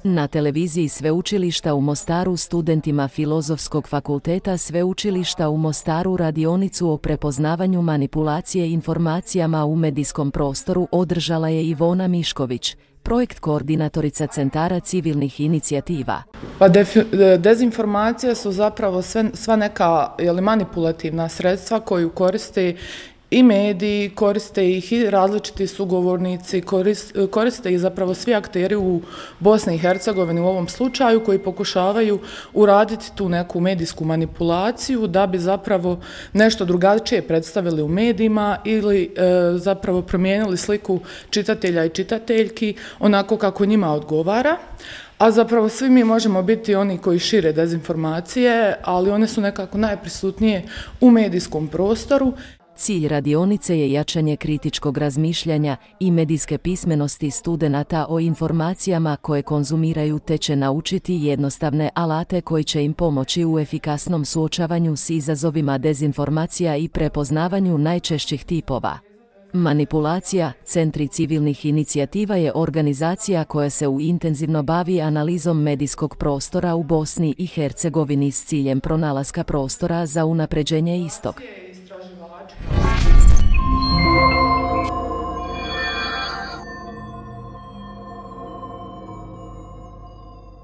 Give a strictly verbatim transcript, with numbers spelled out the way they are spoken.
Na televiziji Sveučilišta u Mostaru studentima Filozofskog fakulteta Sveučilišta u Mostaru radionicu o prepoznavanju manipulacije informacijama u medijskom prostoru održala je Ivona Mišković, projekt koordinatorica Centara civilnih inicijativa. Pa dezinformacije su zapravo sve, sva neka jeli, manipulativna sredstva koju koriste i mediji, koriste ih i različiti sugovornici, koriste, koriste ih zapravo svi akteri u Bosni i Hercegovini u ovom slučaju koji pokušavaju uraditi tu neku medijsku manipulaciju da bi zapravo nešto drugačije predstavili u medijima ili e, zapravo promijenili sliku čitatelja i čitateljki onako kako njima odgovara. A zapravo svi mi možemo biti oni koji šire dezinformacije, ali one su nekako najprisutnije u medijskom prostoru. Cilj radionice je jačanje kritičkog razmišljanja i medijske pismenosti studenata o informacijama koje konzumiraju te će naučiti jednostavne alate koji će im pomoći u efikasnom suočavanju s izazovima dezinformacija i prepoznavanju najčešćih tipova. Manipulacija Centri civilnih inicijativa je organizacija koja se u intenzivno bavi analizom medijskog prostora u Bosni i Hercegovini s ciljem pronalaska prostora za unapređenje istog. Istraživači.